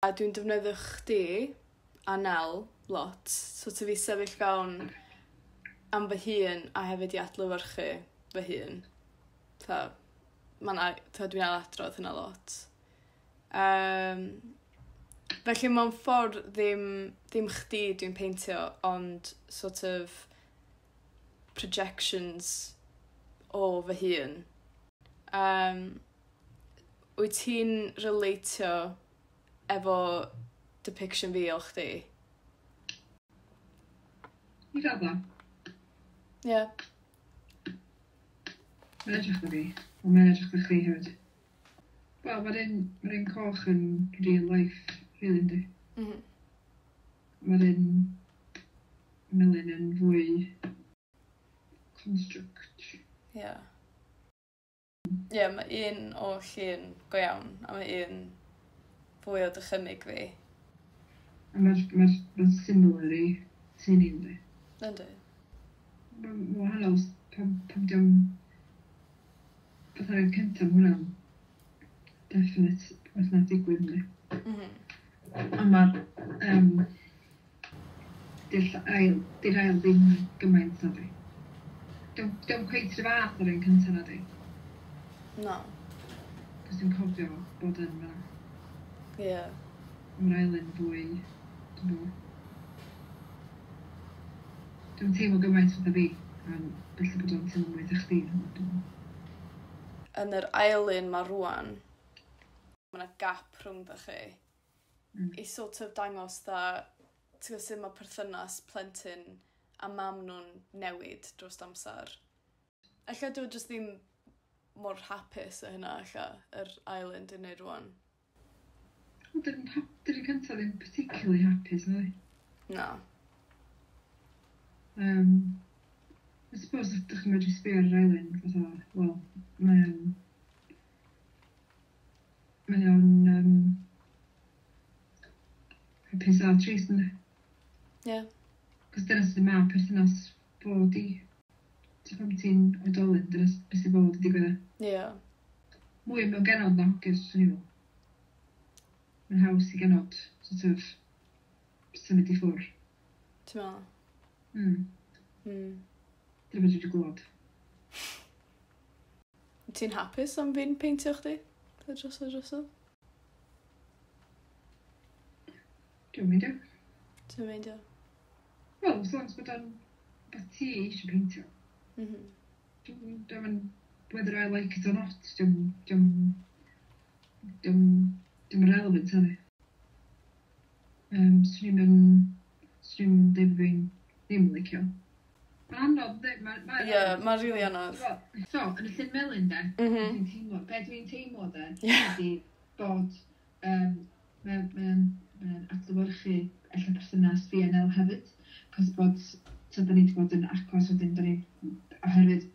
A dwi'n defnyddio chdi a Nel lot, sort of i sefyll fewn am fy hun a hefyd i adlewyrchu fy hun. Ta, ma' 'na, ta dwi'n ailadrodd hynna lot. Felly mewn ffordd ddim chdi dwi'n peintio, ond sort of projections o fy hun. Wyt ti'n relatio efo depiction fi o chdi? I raddau. Ie. Yeah. Mae'n edrych na fi, ond mae'n edrych na chdi hefyd. Wel, mae'r un coch yn real life, really, yndi? Mm. Mae'r un melyn yn fwy construct. Ie. Ie, mae un o llun go iawn, a mae un fwy o dychymyg fi. A mae'r similar i ti'n un, yndi? Yndi. Mae'n wahanol pam diom fatha'r un cyntaf, ma' hwnna'n definite beth na'n digwydd, yndi? Mm. Ond mae'r di'r ail ddim gymaint na di. Dio'm cweit yr fath o'r un cyntaf na di. No. Cos dwi'n cofio bod yn fan'na. Ie. Yeah. Mae'r ail yn fwy, dwi'n gwybod. Dwi'n teimlo gymaint fatha fi, a felly bod o'n teimlo mwy fatha chdi. Dwi'n gwbod. Yn yr ail un ma rwan, mae yna gap rhwng chi. I sort of dangos dda, ti'n gwybod sut mae perthynas plentyn a mam nhw'n newid dros amser. Ella dwi jyst ddim mor hapus o hynna, ella, yr ail un dwi'n neud rwan. Wel, dy'r un cyntaf ddim particularly hapus, na di? Na. I suppose os ydych chi'n medru sbio ar yr ail un, fatha, wel, mae o'n hapus a trist, yndi? Ie. Yeah. Cos dyna sydd ma perthynas fod i. Ti'n pan ti'n oedolyn, dyna beth sydd fod i digwydd. Ie. Yeah. Mwy mewn genod na hogiau, swn i'n meddwl. Mae'n haws i genod, sort of, symud i ffwrdd. Ti'n meddwl? Mm. Dyna beth dwi wedi glywed. Ti'n hapus am fi'n peintio chdi? Drosodd drosodd? Dwi'n meindio. Ti'n meindio? Wel, as long as bod o'n beth ti eisiau peintio. Dwi'n whether I like it or not, dwi'n relevant, ydy. Swn i'n dweud bod fi'n ddim yn licio. Mae'n anodd, yndi? Ie, yeah, mae'n rili anodd. So, yn y llun melyn, de, dwi'n teimlo, be dwi'n teimlo, de, ydy bod mae adlewyrchu ella perthynas fi a Nel hefyd. Cos bod, so da ni wedi bod yn agos wedyn, da ni, oherwydd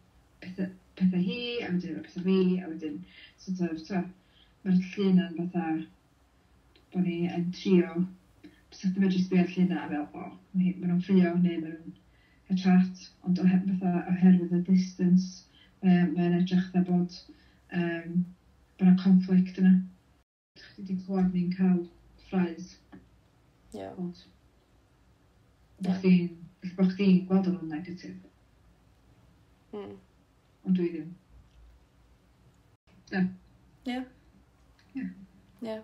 pethau hi, a wedyn pethau fi, a wedyn, sort of, so, mae'r llun yn fatha, bod ni yn trio, bysa chdi medru sbio ar llun a fel, o, ma' nhw'n ffrio, neu ma' nhw'n cael chat, ond fatha oherwydd y distance, mae'n edrych fatha bod yna conflict yna. Chdi wedi clywed ni'n cael ffraes. Ie. Bod. Bo chdi'n gweld o'n negatif. Ond dwi ddim. Da. Ie. Ie. Ie.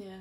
Ie.